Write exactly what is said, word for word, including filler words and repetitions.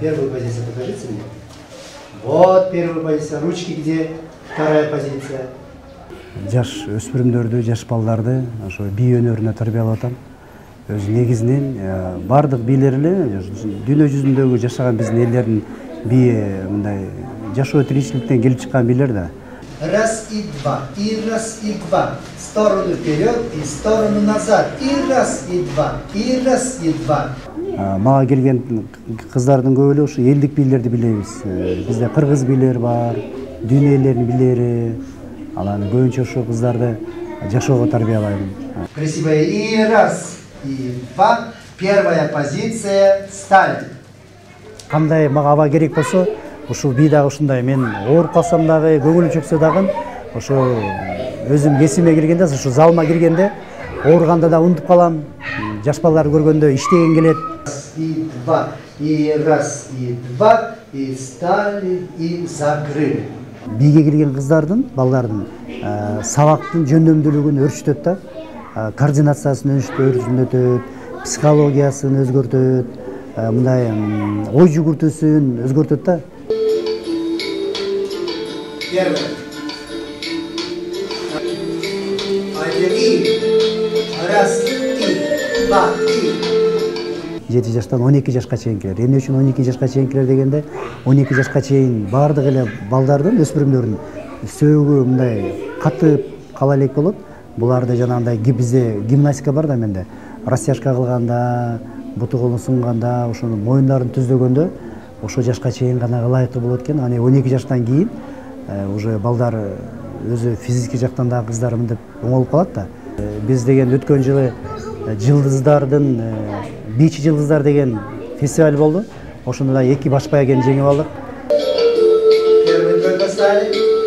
первую позицию покажите мне. Вот первая позиция. Ручки где? Вторая позиция. Жаш өспүрүмдөрдү, жаш балдарды ошо бий өнөрүнө тарбиялап атам. Өз негизинен бардык бийлер эле дүйнө жүзүндөгү жашаган биздин элдердин бии мындай жашоо тиричиликтен келип чыккан бийлер да. Раз и два, и раз и два, сторону вперед и сторону назад, и раз и два, и раз и два. Мага келген кыздардын көбү эле ушу элдик бийлерди билебиз. Бизде кыргыз бийлер бар, дүйнө элдеринин бийлери. Аланы көбүнчө ошо кыздарды жашоого тарбиялайм. Красивая и раз и два, первая позиция, сталь. Кандай мага аба керек болсо, ушул бий дагы ушундай. Мен ооруп калсам дагы, көңүлүм чөксө дагы, ошо өзүм кесиме келгенде, ошо залыма киргенде, ооруганда да унутуп калам. Жаш балдар көргөндө иштеген келет. И два, и раз, и два, и стали, и закрыли. Бийге кирген кыздардын, балдардын сабактын жөндөмдүүлүгүн өрчүтөт да, координациясын өрчүтөт, психологиясын өзгөртөт, мындай ой жүгүртүүсүн өзгөртөт да. Первое. Один и. Раз и. Два и. жети жаштан он эки жашка чейинкилер. Эмне үчүн он эки жашка чейинкилер дегенде, он эки жашка чейин бардык эле балдардын, өспүрүмдөрдүн сөөгү мындай катып кала элек болот. Буларды жанагындай бизде гимнастика бар да менде. Растяжка кылганда, буту колун сунганда, ошону моюндарын түздөгөндө ошо жашка чейин гана ылайыктуу болот экен. Аны он эки жаштан кийин уже балдар өзү физический жактан да кыздарым деп оңолуп калат да. Биз деген өткөн жылы жылдыздардын бийчи жылдыздар деген фестиваль болду. Ошондо да эки баш бәйгени жеңип алдык. Первый только стали.